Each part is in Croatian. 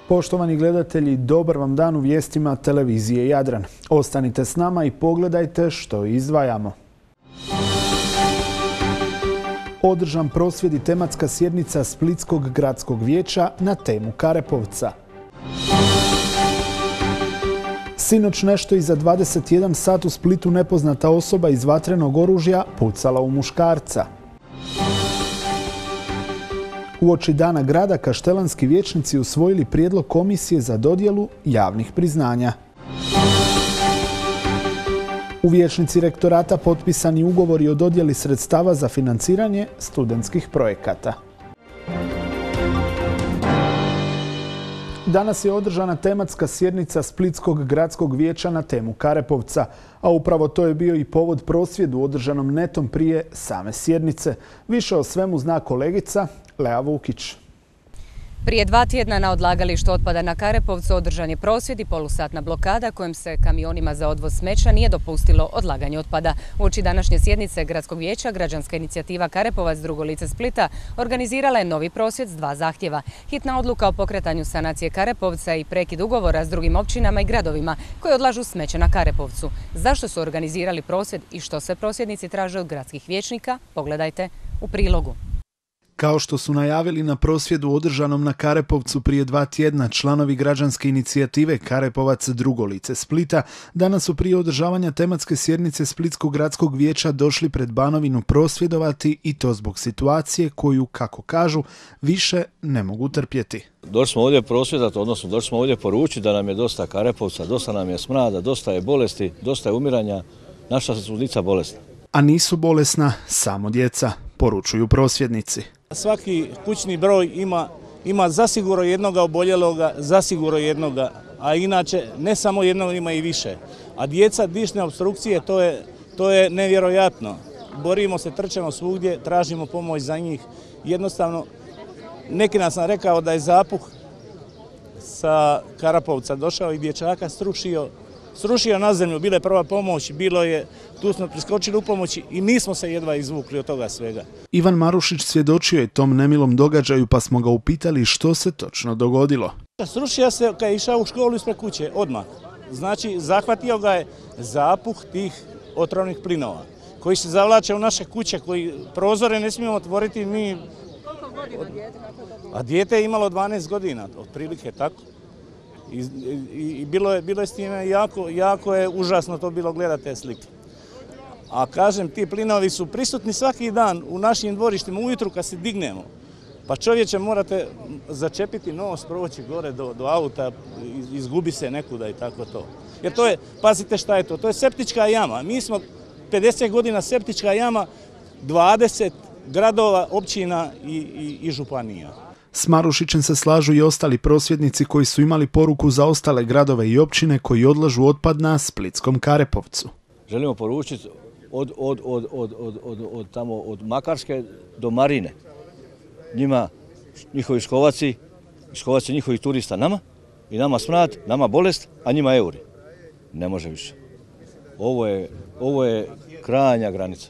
Poštovani gledatelji, dobar vam dan u vijestima televizije Jadran. Ostanite s nama i pogledajte što izdvajamo. Održan prosvjed i tematska sjednica Splitskog gradskog vijeća na temu Karepovca. Sinoć nešto iza 21 sat u Splitu nepoznata osoba iz vatrenog oružja pucala u muškarca. Uoči Dana grada kaštelanski vijećnici usvojili prijedlog komisije za dodjelu javnih priznanja. U vijećnici rektorata potpisani ugovori o dodjeli sredstava za financiranje studentskih projekata. Danas je održana tematska sjednica Splitskog gradskog vijeća na temu Karepovca, a upravo to je bio i povod prosvjedu održanom netom prije same sjednice. Više o svemu zna kolegica Lea Vukić. Prije 2 tjedna na odlagalištu otpada na Karepovcu održan je prosvjed i polusatna blokada kojom se kamionima za odvoz smeća nije dopustilo odlaganje otpada. Uoči današnje sjednice Gradskog vijeća građanska inicijativa Karepovac drugo lice Splita organizirala je novi prosvjed s 2 zahtjeva. Hitna odluka o pokretanju sanacije Karepovca i prekid ugovora s drugim općinama i gradovima koji odlažu smeće na Karepovcu. Zašto su organizirali prosvjed i što sve prosvjednici traže od gradskih vijećnika, pogledajte u prilogu. Kao što su najavili na prosvjedu održanom na Karepovcu prije 2 tjedna, članovi građanske inicijative Karepovac drugo lice Splita danas su prije održavanja tematske sjednice Splitskog gradskog vijeća došli pred Banovinu prosvjedovati i to zbog situacije koju, kako kažu, više ne mogu trpjeti. Došli smo ovdje prosvjedati, odnosno došli smo ovdje poručiti da nam je dosta Karepovca, dosta nam je smrada, dosta je bolesti, dosta je umiranja, naša su djeca bolesna. A nisu bolesna samo djeca, poručuju prosvjednici. Svaki kućni broj ima zasigurno jednoga oboljeloga, zasigurno jednoga, a inače ne samo jednog, ima i više. A djeca dišne opstrukcije, to je nevjerojatno. Borimo se, trčemo svugdje, tražimo pomoć za njih. Jednostavno, neki nas sam rekao da je zapuh sa Karepovca došao i dječaka srušio na zemlju, bila je prva pomoć, tu smo priskočili u pomoći i nismo se jedva izvukli od toga svega. Ivan Marušić svjedočio je tom nemilom događaju pa smo ga upitali što se točno dogodilo. Srušio se kad je išao u školu ispred kuće, odmah. Znači, zahvatio ga je zapuh tih otrovnih plinova koji se zavlače u naše kuće, koji prozore ne smijemo otvoriti mi. Koliko godina dijete? A dijete je imalo 12 godina, otprilike tako. I bilo je s time jako je užasno to bilo gledati te slike. A kažem, ti plinovi su prisutni svaki dan u našim dvorištima ujutru kad se dignemo. Pa čovječe morate začepiti nos, proći gore do auta, izgubi se nekuda i tako to. Jer to je, pazite šta je to je septička jama. Mi smo 50 godina septička jama, 20 gradova, općina i županija. S Marušićem se slažu i ostali prosvjednici koji su imali poruku za ostale gradove i općine koji odlažu otpad na Splitskom Karepovcu. Želimo poručiti od Makarske do Marine. Njima, njihovi škovaci njihovih turista nama i nama smrad, nama bolest, a njima euri. Ne može više. Ovo je krajnja granica.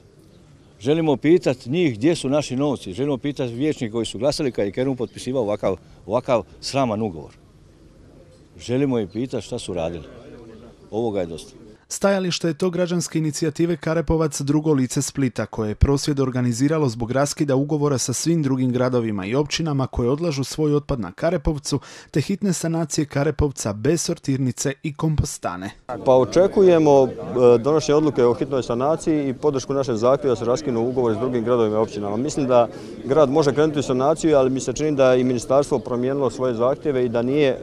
Želimo pitati njih gdje su naši novci, želimo pitati vijećnike koji su glasali kad je Kerum potpisivao ovakav sraman ugovor. Želimo ih pitati šta su radili. Ovoga je dosta. Stajalište je to građanske inicijative Karepovac drugo lice Splita koje je prosvjed organiziralo zbog raskida ugovora sa svim drugim gradovima i općinama koje odlažu svoj otpad na Karepovcu te hitne sanacije Karepovca bez sortirnice i kompostane. Pa očekujemo donošenje odluke o hitnoj sanaciji i podršku našeg zahtjeva da se raskinu ugovori s drugim gradovima i općinama. Mislim da grad može krenuti u sanaciju, ali mi se čini da i ministarstvo promijenilo svoje zahtjeve i da nije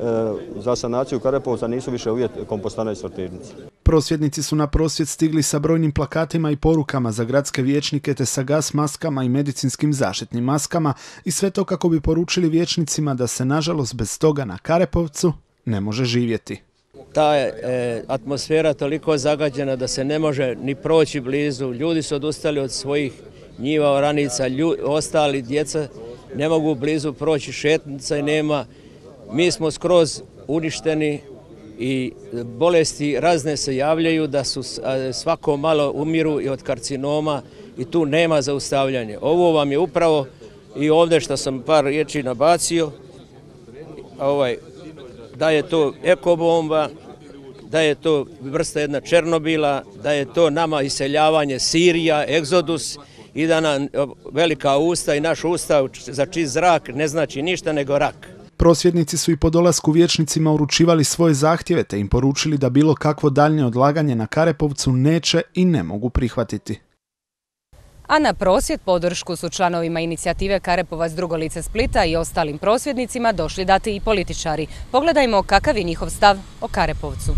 za sanaciju Karepovca nisu više uvjet kompostana i sortirnice. Prosvjednici su na prosvjed stigli sa brojnim plakatima i porukama za gradske vijećnike te sa gas maskama i medicinskim zaštitnim maskama i sve to kako bi poručili vijećnicima da se nažalost bez toga na Karepovcu ne može živjeti. Ta je atmosfera toliko zagađena da se ne može ni proći blizu. Ljudi su odustali od svojih njiva, oranica, ostali djeca ne mogu blizu proći, šetnica i nema. Mi smo skroz uništeni i bolesti razne se javljaju da su svako malo umiru i od karcinoma i tu nema zaustavljanja. Ovo vam je upravo i ovdje što sam par riječi nabacio, da je to ekobomba, da je to vrsta jedna Černobila, da je to nama iseljavanje Sirija, egzodus i da nam velika usta i naš ustav za čist zrak ne znači ništa nego rak. Prosvjednici su i po dolasku vijećnicima uručivali svoje zahtjeve te im poručili da bilo kakvo daljnje odlaganje na Karepovcu neće i ne mogu prihvatiti. A na prosvjed podršku su članovima inicijative Karepovac drugo lice Splita i ostalim prosvjednicima došli dati i političari. Pogledajmo kakav je njihov stav o Karepovcu.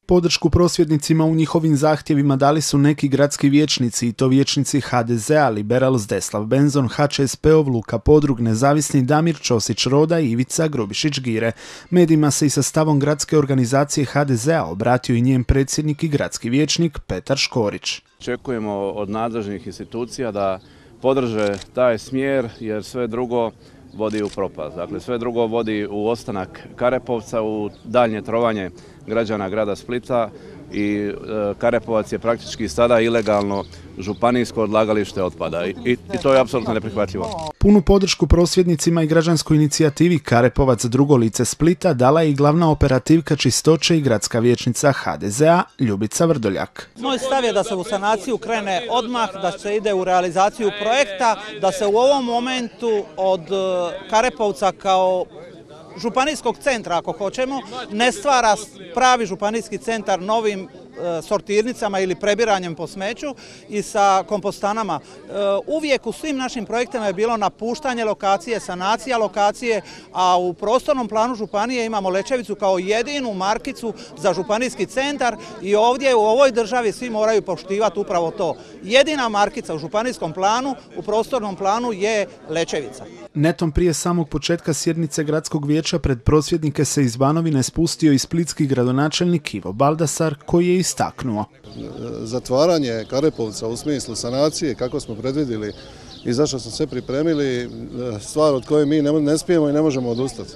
Podršku prosvjednicima u njihovim zahtjevima dali su neki gradski vijećnici i to vijećnici HDZ-a, Liberal Zdeslav Benzon, HČSP-ov, Luka Podrug, nezavisni Damir Ćosić-Roda i Ivica Grubišić-Gire. Medijima se i sa stavom gradske organizacije HDZ-a obratio i njen predsjednik i gradski vijećnik Petar Škorić. Očekujemo od nadležnih institucija da podrže taj smjer jer sve drugo vodi u propast. Dakle, sve drugo vodi u ostanak Karepovca, u daljnje trovanje građana grada Splita i Karepovac je praktički sada ilegalno županijsko odlagalište otpada i to je apsolutno neprihvatljivo. Punu podršku prosvjednicima i građanskoj inicijativi Karepovac drugo lice Splita dala je i glavna operativka čistoće i gradska vijećnica HDZ-a Ljubica Vrdoljak. Moj stav je da se u sanaciju krene odmah, da se ide u realizaciju projekta, da se u ovom momentu od Karepovca kao županijskog centra, ako hoćemo, ne stvara pravi županijski centar novim sortirnicama ili prebiranjem po smeću i sa kompostanama. Uvijek u svim našim projektima je bilo napuštanje lokacije, sanacija lokacije, a u prostornom planu županije imamo Lečevicu kao jedinu markicu za županijski centar i ovdje u ovoj državi svi moraju poštivati upravo to. Jedina markica u županijskom planu, u prostornom planu je Lečevica. Netom prije samog početka sjednice gradskog vijeća pred prosvjednike se iz Banovine spustio i splitski gradonačelnik Ivo Baldasar koji je istaknuo. Zatvaranje Karepovca u smislu sanacije kako smo predvidjeli i zašto smo sve pripremili, stvar od koje mi ne smijemo i ne možemo odustati.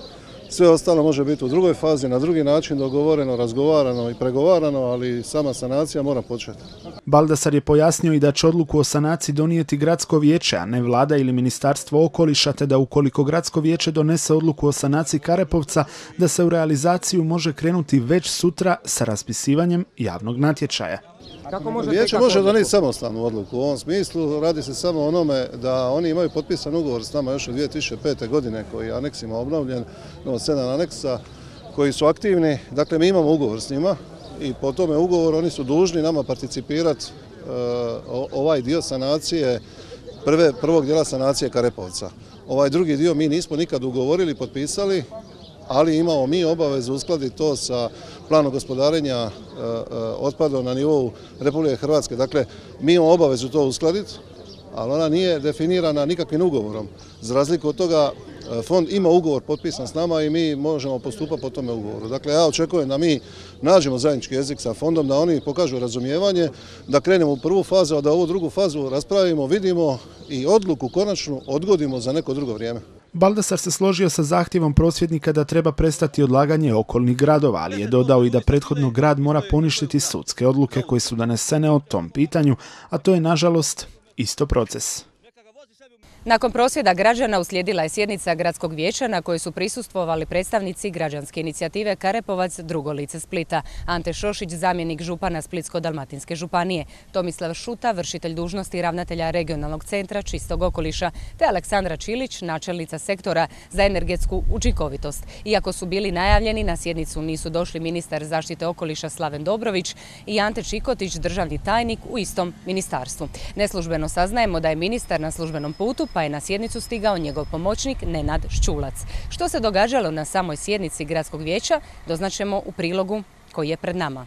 Sve ostalo može biti u drugoj fazi, na drugi način dogovoreno, razgovarano i pregovarano, ali sama sanacija mora početi. Baldasar je pojasnio i da će odluku o sanaciji donijeti gradsko vijeće, a ne vlada ili ministarstvo okoliša, te da ukoliko gradsko vijeće donese odluku o sanaciji Karepovca, da se u realizaciju može krenuti već sutra sa raspisivanjem javnog natječaja. Vijeće može donijeti samostalnu odluku u ovom smislu, radi se samo o onome da oni imaju potpisan ugovor s nama još od 2005. godine koji je aneksima obnovljen, 7 aneksa koji su aktivni, dakle mi imamo ugovor s njima i po tome ugovoru oni su dužni nama participirati ovaj dio sanacije, prvog dijela sanacije Karepovca. Ovaj drugi dio mi nismo nikad ugovorili, potpisali, ali imamo mi obavezu uskladiti to sa planom gospodarenja otpadom na nivou Republike Hrvatske. Dakle, mi imamo obavezu to uskladiti, ali ona nije definirana nikakvim ugovorom. Za razliku od toga, fond ima ugovor potpisan s nama i mi možemo postupati po tome ugovoru. Dakle, ja očekujem da mi nađemo zajednički jezik sa fondom, da oni pokažu razumijevanje, da krenemo u prvu fazu, a da ovu drugu fazu raspravimo, vidimo i odluku konačnu odgodimo za neko drugo vrijeme. Baldasar se složio sa zahtjevom prosvjednika da treba prestati odlaganje okolnih gradova, ali je dodao i da prethodno grad mora poništiti sudske odluke koje su donesene o tom pitanju, a to je nažalost isto proces. Nakon prosvjeda građana uslijedila je sjednica gradskog vijeća na kojoj su prisustvovali predstavnici građanske inicijative Karepovac drugo lice Splita, Ante Šošić, zamjenik župana Splitsko-dalmatinske županije, Tomislav Šuta, vršitelj dužnosti ravnatelja regionalnog centra čistog okoliša, te Aleksandra Čilić, načelnica sektora za energetsku učinkovitost. Iako su bili najavljeni, na sjednicu nisu došli ministar zaštite okoliša Slaven Dobrović i Ante Čikotić, državni tajnik u istom ministarstvu. Neslužbeno saznajemo da je ministar na službenom putu, pa je na sjednicu stigao njegov pomoćnik Nenad Ščulac. Što se događalo na samoj sjednici gradskog vijeća, doznaćemo u prilogu koji je pred nama.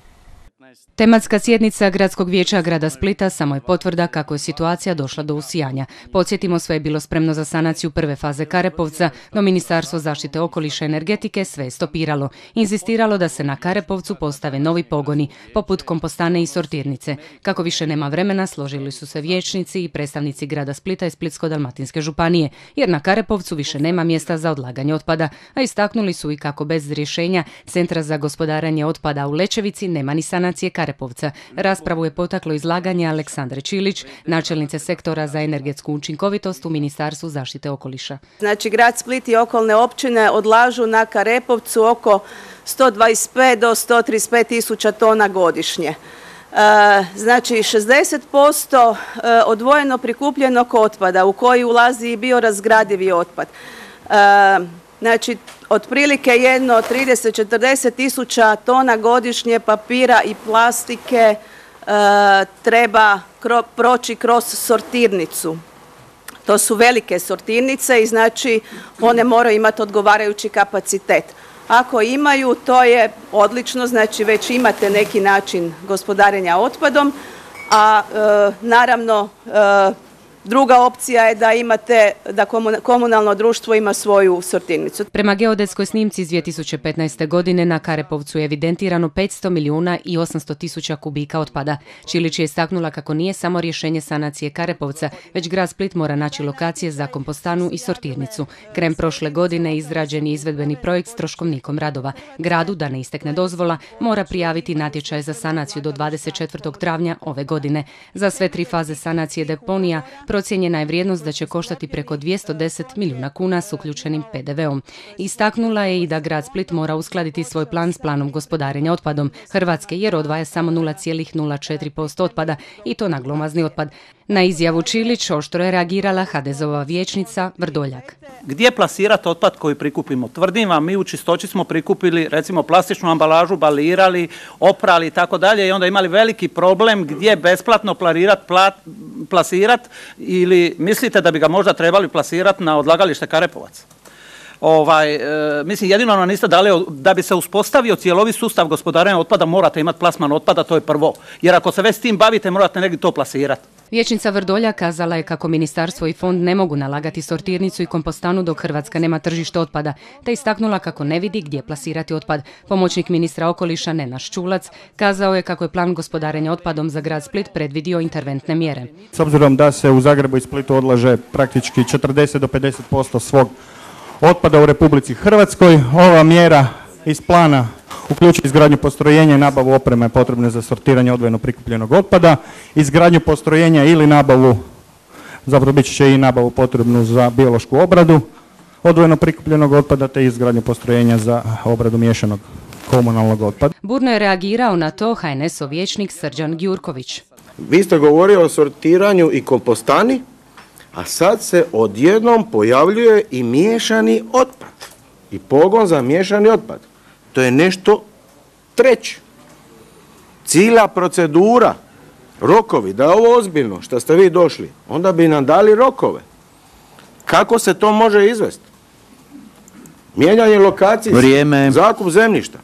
Tematska sjednica Gradskog vijeća grada Splita samo je potvrda kako je situacija došla do usijanja. Podsjetimo, sve je bilo spremno za sanaciju prve faze Karepovca, no Ministarstvo zaštite okoliša i energetike sve je stopiralo. Inzistiralo da se na Karepovcu postave novi pogoni, poput kompostane i sortirnice. Kako više nema vremena, složili su se vijećnici i predstavnici grada Splita i Splitsko-dalmatinske županije, jer na Karepovcu više nema mjesta za odlaganje otpada, a istaknuli su i kako bez rješenja Centra za gospodarenje otpada u Lečevici nema ni sanacije sanacije Karepovca. Raspravu je potaklo izlaganje Aleksandre Čilić, načelnice sektora za energetsku učinkovitost u Ministarstvu zaštite okoliša. Znači, grad Split i okolne općine odlažu na Karepovcu oko 125 do 135 tisuća tona godišnje. Znači 60% odvojeno prikupljenog otpada u koji ulazi i biorazgradivi otpad. Znači otprilike jedno 30-40 tisuća tona godišnje papira i plastike treba proći kroz sortirnicu. To su velike sortirnice i znači one moraju imati odgovarajući kapacitet. Ako imaju, to je odlično, znači već imate neki način gospodarenja otpadom, a naravno druga opcija je da komunalno društvo ima svoju sortirnicu. Prema geodetskoj snimci iz 2015. godine na Karepovcu je evidentirano 500 milijuna i 800 tisuća kubika otpada. Čilić je istaknula kako nije samo rješenje sanacije Karepovca, već grad Split mora naći lokacije za kompostanu i sortirnicu. Krajem prošle godine izrađen je izvedbeni projekt s troškovnikom radova. Gradu, da ne istekne dozvola, mora prijaviti natječaj za sanaciju do 24. travnja ove godine. Za sve 3 faze sanacije deponija procijenjena je vrijednost da će koštati preko 210 milijuna kuna s uključenim PDV-om. Istaknula je i da grad Split mora uskladiti svoj plan s planom gospodarenja otpadom Hrvatske, jer odvaja samo 0,04% otpada i to na glomazni otpad. Na izjavu Čilić oštro je reagirala HDZ-ova vijećnica Vrdoljak. Gdje plasirati otpad koji prikupimo? Tvrdim vam, mi u Čistoći smo prikupili recimo plastičnu ambalažu, balirali, oprali i tako dalje i onda imali veliki problem gdje besplatno plasirati ili mislite da bi ga možda trebali plasirati na odlagalište Karepovac? Mislim, jedino nam niste dali da bi se uspostavio cjelovit sustav gospodarenja otpada, morate imati plasman otpada, to je prvo. Jer ako se već s tim bavite, morate negdje to plasirati. Vijećnica Vrdoljak kazala je kako ministarstvo i fond ne mogu nalagati sortirnicu i kompostanu dok Hrvatska nema tržište otpada, te istaknula kako ne vidi gdje plasirati otpad. Pomoćnik ministra okoliša Nenaš Čulac kazao je kako je plan gospodarenja otpadom za grad Split predvidio interventne mjere. S obzirom da se u Zagrebu i Splitu odlaže praktički 40 do 50% svog otpada u Republici Hrvatskoj, ova mjera iz plana uključuje izgradnju postrojenja i nabavu opreme potrebne za sortiranje odvojeno prikupljenog otpada, izgradnju postrojenja ili nabavu, zapravo bit će i nabavu potrebnu za biološku obradu odvojeno prikupljenog otpada, te izgradnju postrojenja za obradu miješanog komunalnog otpada. Burno je reagirao na to HNS-ov vijećnik Srđan Gjurković. Vi ste govorili o sortiranju i kompostani, a sad se odjednom pojavljuje i miješani otpad i pogon za miješani otpad. To je nešto treće. Cijela procedura, rokovi, da je ovo ozbiljno što ste vi došli, onda bi nam dali rokove. Kako se to može izvesti? Mijenjanje lokacije, zakup zemljišta.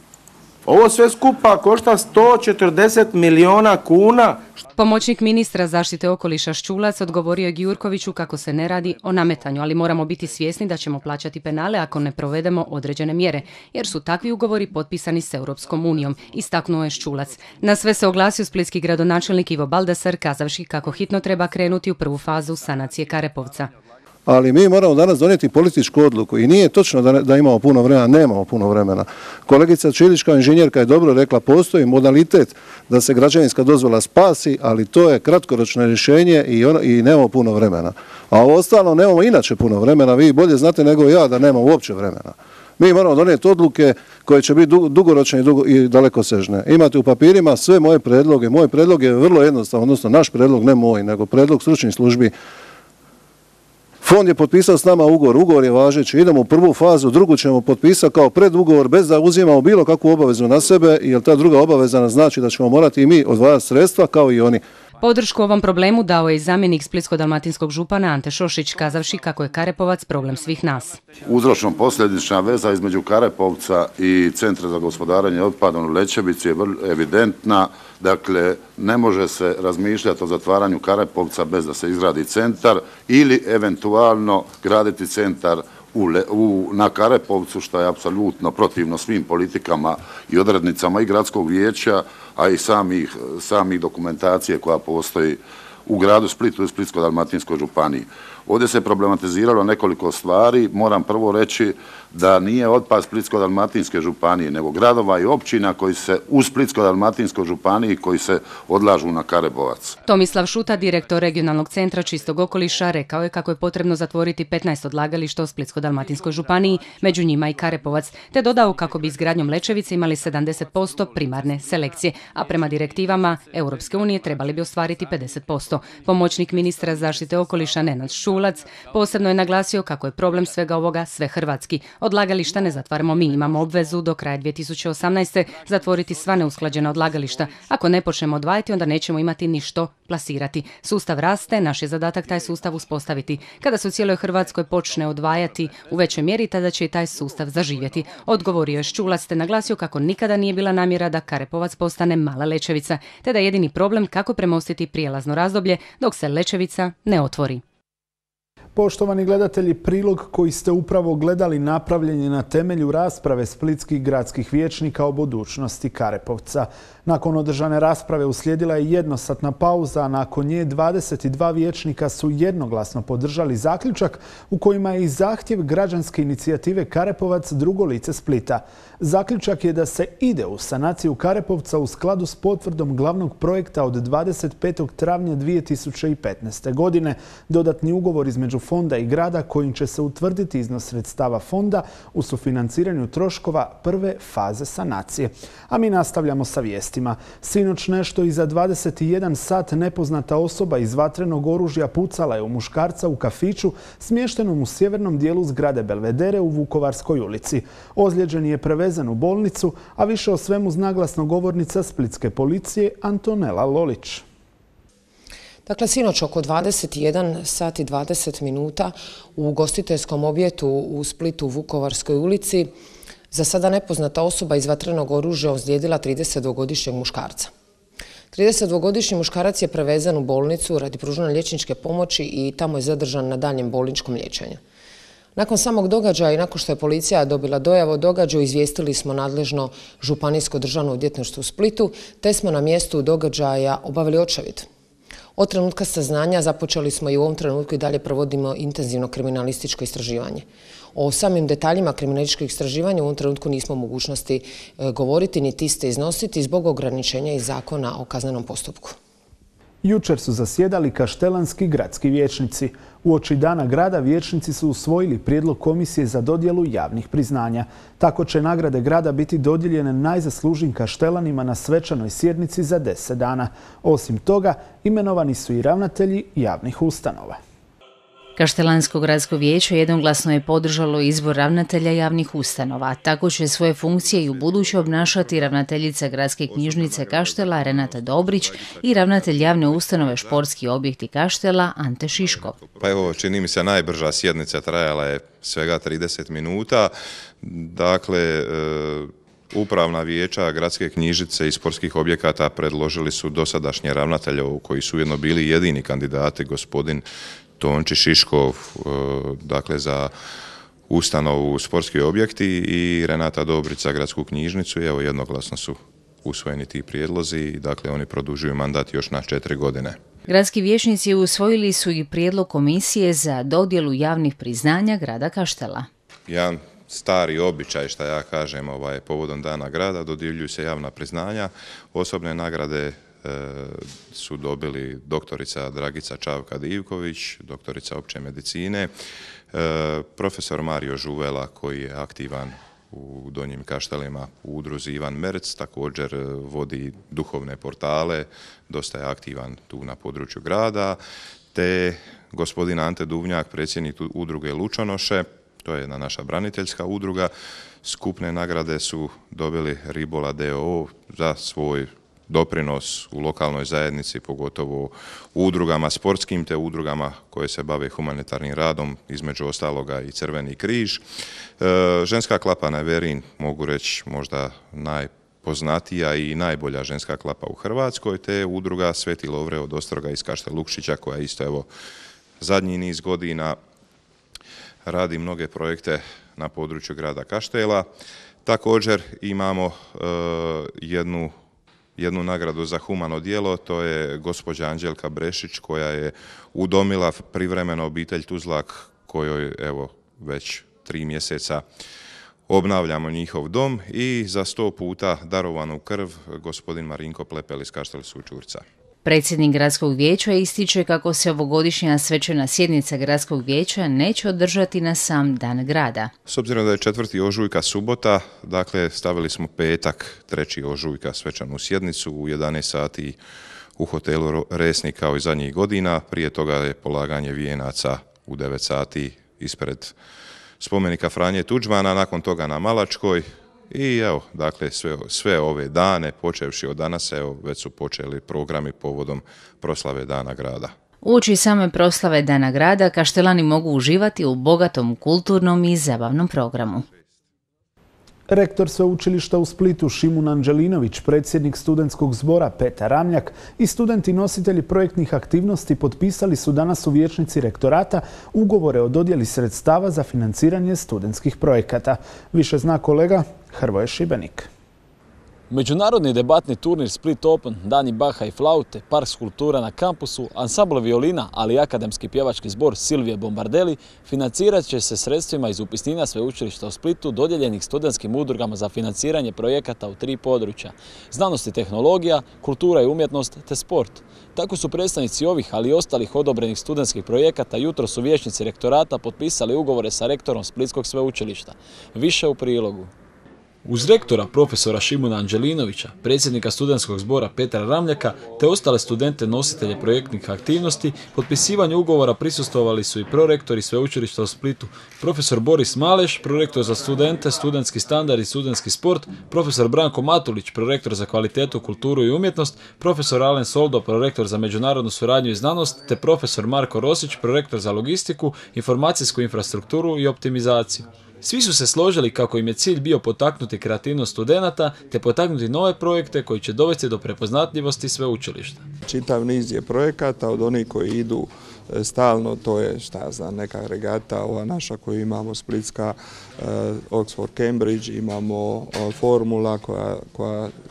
Ovo sve skupa košta 140 milijuna kuna. Pomoćnik ministra zaštite okoliša Ščulac odgovorio je Gjurkoviću kako se ne radi o nametanju, ali moramo biti svjesni da ćemo plaćati penale ako ne provedemo određene mjere, jer su takvi ugovori potpisani s Europskom unijom, istaknuo je Ščulac. Na sve se oglasio splitski gradonačelnik Ivo Baldasar kazavši kako hitno treba krenuti u prvu fazu sanacije Karepovca. Ali mi moramo danas donijeti političku odluku i nije točno da imamo puno vremena, nemamo puno vremena. Kolegica Čilić kao inženjerka je dobro rekla, postoji modalitet da se građevinska dozvola spasi, ali to je kratkoročno rješenje i nemamo puno vremena. A ovo ostalo nemamo inače puno vremena, vi bolje znate nego ja da nema uopće vremena. Mi moramo donijeti odluke koje će biti dugoročne i dalekosežne. Imate u papirima sve moje predloge. Moj predlog je vrlo jednostavan, odnosno naš predlog, ne moj, nego predlog stručnih službi. Fond je potpisao s nama ugovor je važeći, idemo u prvu fazu, drugu ćemo potpisati kao predugovor bez da uzimamo bilo kakvu obavezu na sebe, jer ta druga obaveza znači da ćemo morati i mi odvajati sredstva kao i oni. Podršku ovom problemu dao je i zamjenik splitsko-dalmatinskog župana Ante Šošić, kazavši kako je Karepovac problem svih nas. Uzročno-posljedična veza između Karepovca i Centra za gospodarenje otpadom u Lećevici je evidentna. Dakle, ne može se razmišljati o zatvaranju Karepovca bez da se izgradi centar ili eventualno graditi centar na Karepovcu, što je apsolutno protivno svim politikama i odrednicama i gradskog vijeća, a i samih dokumentacije koja postoji u gradu Splitu i Splitsko-dalmatinskoj županiji. Ovdje se problematiziralo nekoliko stvari. Moram prvo reći da nije otpad Splitsko-dalmatinske županije, nego gradova i općina koji se u Splitsko-dalmatinskoj županiji koji se odlažu na Karepovac. Tomislav Šuta, direktor regionalnog centra čistog okoliša, rekao je kako je potrebno zatvoriti 15 odlagališta u Splitsko-dalmatinskoj županiji, među njima i Karepovac, te dodao kako bi izgradnjom Lečevice imali 70% primarne selekcije, a prema direktivama Europske unije trebali bi ostvariti 50%. Pomoćnik ministra zaštite okoliša Nenad Šulac posebno je naglasio kako je problem svega ovoga svehrvatski. Odlagališta ne zatvaramo mi, imamo obvezu do kraja 2018. zatvoriti sva neusklađena odlagališta. Ako ne počnemo odvajati, onda nećemo imati ni što plasirati. Sustav raste, naš je zadatak taj sustav uspostaviti. Kada se u cijeloj Hrvatskoj počne odvajati u većoj mjeri, tada će i taj sustav zaživjeti. Odgovorio je Šulac te naglasio kako nikada nije bila namjera da Karepovac postane mala Lečevica, te da je jedini problem kako premostiti prijelazno razdoblje dok se Lečevica ne otvori. Poštovani gledatelji, prilog koji ste upravo gledali napravljen je na temelju rasprave splitskih gradskih vijećnika o budućnosti Karepovca. Nakon održane rasprave uslijedila je jednosatna pauza, a nakon nje 22 vijećnika su jednoglasno podržali zaključak u kojima je i zahtjev građanske inicijative Karepovac drugo lice Splita. Zaključak je da se ide u sanaciju Karepovca u skladu s potvrdom glavnog projekta od 25. travnja 2015. godine. Dodatni ugovor između fonda i grada kojim će se utvrditi iznos sredstava fonda u sufinanciranju troškova prve faze sanacije. A mi nastavljamo sa vijestima. Sinoć nešto iza 21 sat nepoznata osoba iz vatrenog oružja pucala je u muškarca u kafiću smještenom u sjevernom dijelu zgrade Belvedere u Vukovarskoj ulici. Ozlijeđen je prevezen u bolnicu, a više o svemu zna glasnogovornica splitske policije Antonela Lolić. Dakle, sinoć oko 21 sat i 20 minuta u ugostiteljskom objektu u Splitu u Vukovarskoj ulici za sada nepoznata osoba iz vatrenog oružja ozlijedila 32-godišnjeg muškarca. 32-godišnji muškarac je prevezen u bolnicu radi pružanja liječničke pomoći i tamo je zadržan na daljnjem bolničkom liječenju. Nakon samog događaja i nakon što je policija dobila dojavu o događaju, izvijestili smo nadležno Županijsko državno odvjetništvo u Splitu, te smo na mjestu događaja obavili očevid. Od trenutka saznanja započeli smo i u ovom trenutku i dalje provodimo intenzivno kriminalističko istraživanje. O samim detaljima kriminalističkog istraživanja u ovom trenutku nismo u mogućnosti govoriti niti iste iznositi zbog ograničenja iz Zakona o kaznenom postupku. Jučer su zasjedali kaštelanski gradski vijećnici. Uoči dana grada vijećnici su usvojili prijedlog komisije za dodjelu javnih priznanja. Tako će nagrade grada biti dodijeljene najzaslužnijim kaštelanima na svečanoj sjednici za 10 dana. Osim toga, imenovani su i ravnatelji javnih ustanova. Kaštelansko gradsko vijeće jednoglasno je podržalo izbor ravnatelja javnih ustanova. Tako će svoje funkcije i u buduće obnašati ravnateljica Gradske knjižnice Kaštela Renata Dobrić i ravnatelj javne ustanove Športski objekti Kaštela Ante Šiškov. Pa evo, čini mi se najbrža sjednica trajala je svega 30 minuta. Dakle, upravna vijeća Gradske knjižnice i sportskih objekata predložili su dosadašnje ravnatelje koji su ujedno bili jedini kandidati, gospodin Tonči Šiškov, dakle za ustanovu sportski objekti i Renata Dobrić za gradsku knjižnicu. Evo, jednoglasno su usvojeni ti prijedlozi i dakle oni produžuju mandat još na 4 godine. Gradski vijećnici usvojili su i prijedlog komisije za dodjelu javnih priznanja grada Kaštela. Jedan stari običaj, šta ja kažem, povodom dana grada dodjeljuju se javna priznanja. Osobne nagrade su dobili doktorica Dragica Čavka-Divković, doktorica opće medicine, profesor Mario Žuvela koji je aktivan u Donjim Kaštelima u udruzi Ivan Merc, također vodi duhovne portale, dosta je aktivan tu na području grada, te gospodin Ante Duvnjak, predsjednik udruge Lučonoše, to je jedna naša braniteljska udruga. Skupne nagrade su dobili Ribola d.o.o. za svoj doprinos u lokalnoj zajednici, pogotovo u udrugama sportskim te udrugama koje se bave humanitarnim radom, između ostaloga i Crveni križ. Ženska klapa Neverin, mogu reći možda najpoznatija i najbolja ženska klapa u Hrvatskoj, te udruga Sveti Lovre od Ostroga iz Kaštel Lukšića koja isto evo zadnji niz godina radi mnoge projekte na području grada Kaštela. Također imamo jednu jednu nagradu za humano djelo, to je gospođa Anđelka Brešić koja je udomila privremeno obitelj Tuzlak kojoj evo već 3 mjeseca obnavljamo njihov dom i za 100 puta darovanu krv gospodin Marinko Plepel iz Kaštel Sućurca. Predsjednik gradskog vijeća ističe kako se ovogodišnja svečana sjednica gradskog vijeća neće održati na sam dan grada. S obzirom da je 4. ožujka subota, dakle stavili smo petak 3. ožujka svečanu sjednicu u 11 sati u hotelu Resnik kao i zadnjih godina. Prije toga je polaganje vijenaca u 9 sati ispred spomenika Franje Tuđmana, nakon toga na Malačkoj. I evo, dakle, sve ove dane, počevši od danas, evo, već su počeli programi povodom proslave Dana grada. Uoči same proslave Dana grada, Kaštelani mogu uživati u bogatom kulturnom i zabavnom programu. Rektor Sveučilišta u Splitu Šimun Anđelinović, predsjednik studentskog zbora Petar Ramljak i studenti nositelji projektnih aktivnosti potpisali su danas u vijećnici rektorata ugovore o dodjeli sredstava za financiranje studentskih projekata. Više zna kolega Hrvoje Šibenik. Međunarodni debatni turnir Split Open, Dani Baha i flaute, park skulptura na kampusu, ansambl violina, ali i akademski pjevački zbor Silvije Bombardeli financirat će se sredstvima iz upisnina Sveučilišta u Splitu dodijeljenih studentskim udrugama za financiranje projekata u 3 područja: znanost i tehnologija, kultura i umjetnost te sport. Tako su predstavnici ovih, ali i ostalih odobrenih studentskih projekata jutros u vijećnici rektorata potpisali ugovore sa rektorom Splitskog sveučilišta. Više u prilogu. Uz rektora profesora Šimuna Anđelinovića, predsjednika studentskog zbora Petra Ramljaka te ostale studente nositelje projektnih aktivnosti, potpisivanju ugovora prisustvovali su i prorektori Sveučilišta u Splitu, profesor Boris Maleš, prorektor za studente, studentski standard i studentski sport, profesor Branko Matulić, prorektor za kvalitetu, kulturu i umjetnost, profesor Alen Soldo, prorektor za međunarodnu suradnju i znanost, te profesor Marko Rosić, prorektor za logistiku, informacijsku infrastrukturu i optimizaciju. Svi su se složili kako im je cilj bio potaknuti kreativnost studenata te potaknuti nove projekte koji će dovesti do prepoznatljivosti sveučilišta. Čitav niz je projekata od onih koji idu stalno, to je neka regata, ova naša koju imamo splitska, Oxford Cambridge, imamo formula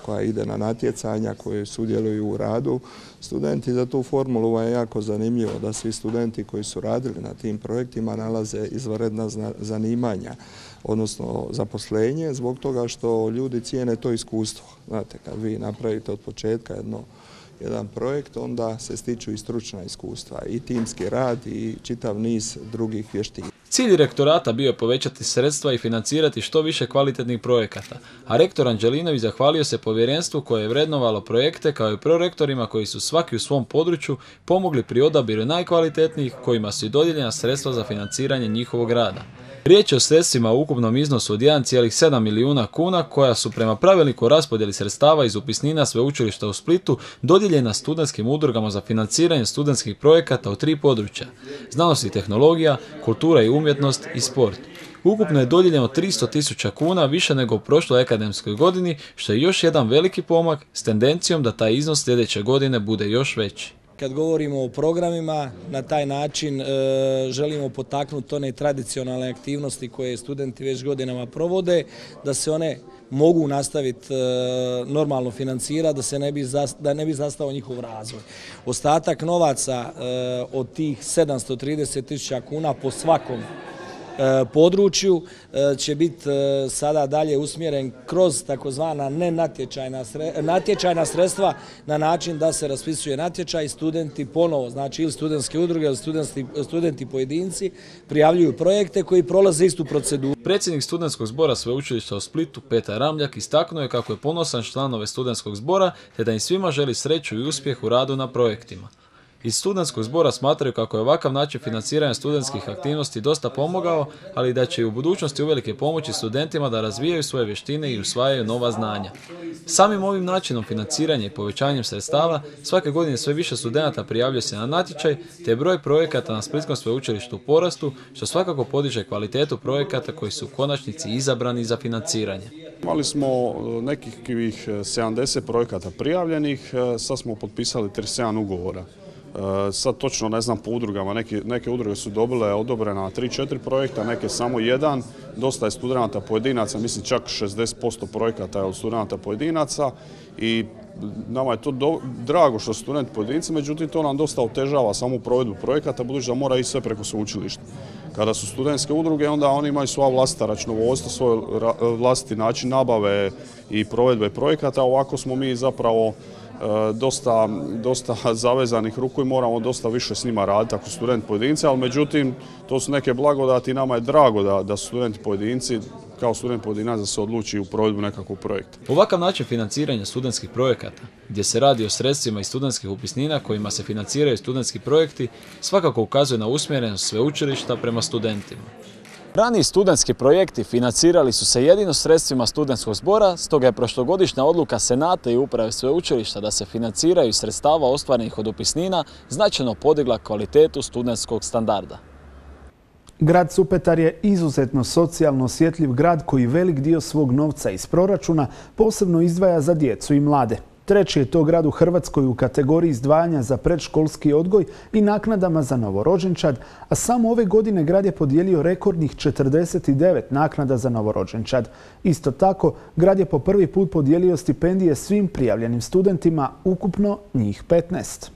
koja ide na natjecanja, koje sudjeluju u radu. Studenti za tu formulu je jako zanimljivo da svi studenti koji su radili na tim projektima nalaze izvanredna zanimanja, odnosno zaposlenje, zbog toga što ljudi cijene to iskustvo. Znate, kad vi napravite od početka jedan projekt, onda se stiču i stručna iskustva, i timski rad i čitav niz drugih vještina. Cilj rektorata bio je povećati sredstva i financirati što više kvalitetnih projekata, a rektor Anđelinović zahvalio se povjerenstvu koje je vrednovalo projekte kao i prorektorima koji su svaki u svom području pomogli pri odabiru najkvalitetnijih kojima su i dodijeljena sredstva za financiranje njihovog rada. Riječ je o sredstvima u ukupnom iznosu od 1,7 milijuna kuna koja su prema pravilniku o raspodjeli sredstava iz upisnina Sveučilišta u Splitu dodijeljena studentskim udrugama za financiranje studentskih projekata u 3 područja: znanost i tehnologija, kultura i umjetnost i sport. Ukupno je dodijeljeno 300.000 kuna, više nego u prošloj akademskoj godini, što je još jedan veliki pomak s tendencijom da taj iznos sljedeće godine bude još veći. Kad govorimo o programima, na taj način želimo potaknuti one tradicionalne aktivnosti koje studenti već godinama provode, da se one mogu nastaviti normalno financirati, da ne bi zastao njihov razvoj. Ostatak novaca od tih 730.000 kuna po svakom području će biti sada dalje usmjeren kroz takozvana natječajna sredstva na način da se raspisuje natječaj i studenti ponovo, znači ili studentske udruge ili studenti pojedinci prijavljuju projekte koji prolaze istu proceduru. Predsjednik studentskog zbora Sveučilišta u Splitu Petar Ramljak istaknuo je kako je ponosan članove studentskog zbora te da im svima želi sreću i uspjeh u radu na projektima. Iz studentskog zbora smatraju kako je ovakav način financiranja studentskih aktivnosti dosta pomogao, ali da će i u budućnosti uvelike pomoći studentima da razvijaju svoje vještine i usvajaju nova znanja. Samim ovim načinom financiranja i povećanjem sredstava svake godine sve više studenata prijavljuje se na natječaj, te je broj projekata na Splitskom sveučilištu u porastu, što svakako podiže kvalitetu projekata koji su u konačnici izabrani za financiranje. Imali smo nekih 70 projekata prijavljenih, sad smo potpisali 37 ugovora Sad točno ne znam po udrugama, neke udruge su dobile odobrena 3-4 projekta, neke samo jedan. Dosta je studenata pojedinaca, mislim čak 60% projekata je od studenata pojedinaca i nama je to drago što su studenti pojedinci, međutim to nam dosta otežava samu provedbu projekata, budući da mora ići sve preko sveučilišta. Kada su studentske udruge, onda oni imaju svoja vlastita računovodstva, svoj vlastiti način nabave i provedbe projekata, ovako smo mi zapravo dosta zavezanih ruku i moramo dosta više s njima raditi ako su studenti pojedinci, ali međutim to su neke blagodati i nama je drago da su studenti pojedinci, kao student pojedinac da se odluči u provedbu nekakvog projekta. Ovakav način financiranja studentskih projekata, gdje se radi o sredstvima iz studentskih upisnina kojima se financiraju studentski projekti, svakako ukazuje na usmjerenost sveučilišta prema studentima. Raniji studentski projekti financirali su se jedino sredstvima studentskog zbora, stoga je prošlogodišnja odluka Senata i uprave sveučilišta da se financiraju iz sredstava ostvarenih od upisnina značajno podigla kvalitetu studentskog standarda. Grad Supetar je izuzetno socijalno osjetljiv grad koji velik dio svog novca iz proračuna posebno izdvaja za djecu i mlade. Treći je to grad u Hrvatskoj u kategoriji izdvajanja za predškolski odgoj i naknadama za novorođenčad, a samo ove godine grad je podijelio rekordnih 49 naknada za novorođenčad. Isto tako, grad je po prvi put podijelio stipendije svim prijavljenim studentima, ukupno njih 15.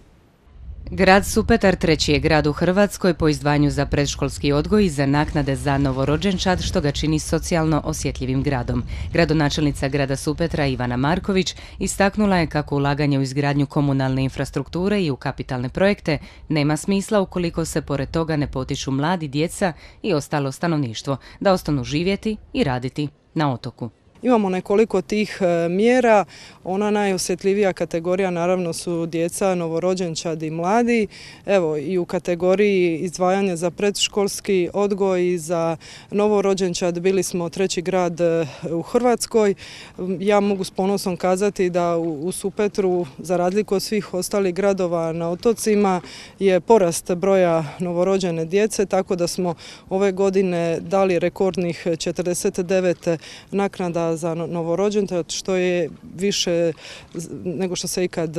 Grad Supetar treći je grad u Hrvatskoj po izdvajanju za predškolski odgoj i za naknade za novorođenčad, što ga čini socijalno osjetljivim gradom. Gradonačelnica grada Supetra Ivana Marković istaknula je kako ulaganje u izgradnju komunalne infrastrukture i u kapitalne projekte nema smisla ukoliko se pored toga ne potiču mladi, djeca i ostalo stanovništvo da ostanu živjeti i raditi na otoku. Imamo nekoliko tih mjera, ona najosjetljivija kategorija naravno su djeca, novorođenčad i mladi. Evo i u kategoriji izdvajanja za predškolski odgoj i za novorođenčad bili smo treći grad u Hrvatskoj. Ja mogu s ponosom kazati da u Supetru, za razliku od svih ostalih gradova na otocima, je porast broja novorođene djece, tako da smo ove godine dali rekordnih 49 naknada za novorođenčad, što je više nego što se ikad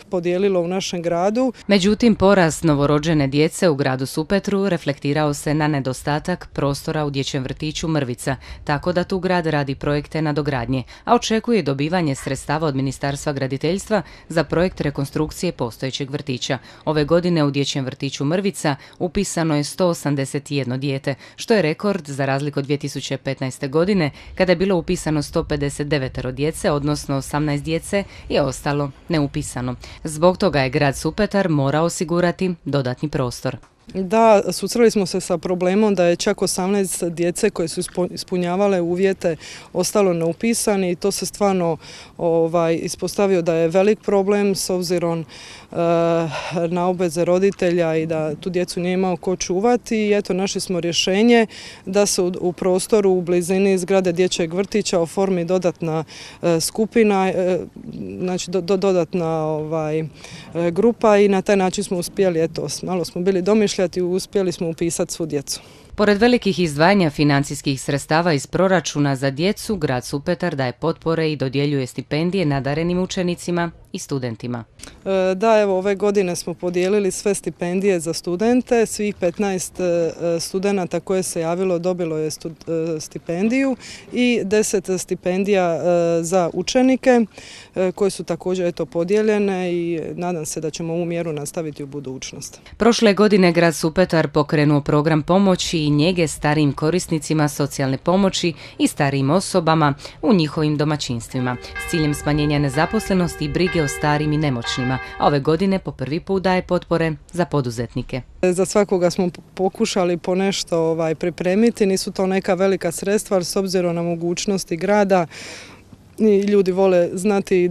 podijelilo u našem gradu. Međutim, porast novorođene djece u gradu Supetru reflektirao se na nedostatak prostora u dječjem vrtiću Mrvica, tako da tu grad radi projekte nadogradnje, a očekuje dobivanje sredstava od Ministarstva graditeljstva za projekt rekonstrukcije postojećeg vrtića. Ove godine u dječjem vrtiću Mrvica upisano je 181 dijete, što je rekord za razliku od 2015. godine, kada je bilo upisano 159 djece, odnosno 18 djece je ostalo neupisano. Zbog toga je grad Supetar morao osigurati dodatni prostor. Da, susreli smo se sa problemom da je čak 18 djece koje su ispunjavale uvjete ostalo neupisani i to se stvarno ispostavio da je velik problem s obzirom na obveze roditelja i da tu djecu nije imao ko čuvati. I eto, našli smo rješenje da se u prostoru u blizini zgrade dječjeg vrtića oformi dodatna skupina, znači dodatna grupa i na taj način smo uspjeli, eto, malo smo bili domišljati i uspjeli smo upisati svu djecu. Pored velikih izdvajanja financijskih sredstava iz proračuna za djecu, grad Supetar daje potpore i dodjeljuje stipendije nadarenim učenicima i studentima. Da, evo, ove godine smo podijelili sve stipendije za studente. Svih 15 studenata koje se javilo dobilo je stipendiju i 10 stipendija za učenike koje su također podijeljene i nadam se da ćemo ovu mjeru nastaviti u budućnosti. Prošle godine grad Supetar pokrenuo program pomoći i njege starijim korisnicima socijalne pomoći i starijim osobama u njihovim domaćinstvima s ciljem smanjenja nezaposlenosti i brige o starim i nemoćnima, a ove godine po prvi put daje potpore za poduzetnike. Za svakoga smo pokušali po nešto pripremiti, nisu to neka velika sredstva, ali s obzirom na mogućnosti grada ljudi vole znati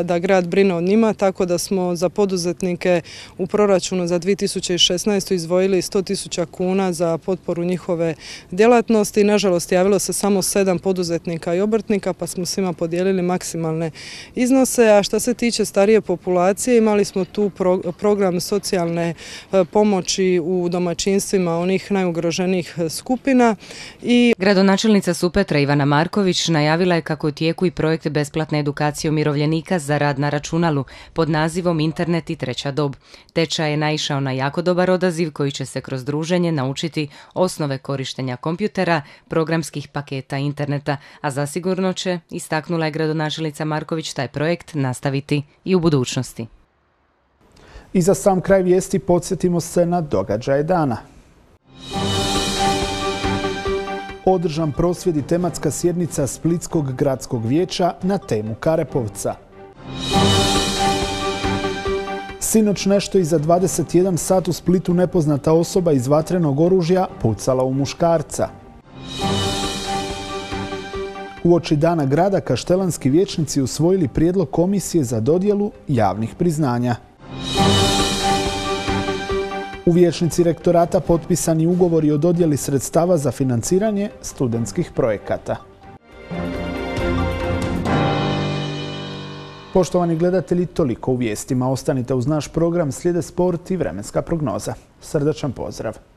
da grad brine o njima, tako da smo za poduzetnike u proračunu za 2016. izdvojili 100.000 kuna za potporu njihove djelatnosti. Nažalost, javilo se samo 7 poduzetnika i obrtnika, pa smo svima podijelili maksimalne iznose. A što se tiče starije populacije, imali smo tu program socijalne pomoći u domaćinstvima onih najugroženijih skupina. Gradonačelnica Supetra Ivana Marković najavila je kako je u tijeku i projekt besplatne edukacije umirovljenika za rad na računalu pod nazivom Internet i treća dob. Tečaj je naišao na jako dobar odaziv koji će se kroz druženje naučiti osnove korištenja kompjutera, programskih paketa interneta, a zasigurno će, istaknula je gradonačelnica Marković, taj projekt nastaviti i u budućnosti. I za sam kraj vijesti podsjetimo se na događaje dana. Održan prosvjed i tematska sjednica Splitskog gradskog vijeća na temu Karepovca. Sinoć nešto iza 21 sat u Splitu nepoznata osoba iz vatrenog oružja pucala u muškarca. Uoči Dana grada kaštelanski vijećnici usvojili prijedlog komisije za dodjelu javnih priznanja. U vijećnici rektorata potpisani ugovori o dodjeli sredstava za financiranje studentskih projekata. Poštovani gledatelji, toliko u vijestima. Ostanite uz naš program, slijede sport i vremenska prognoza. Srdačan pozdrav!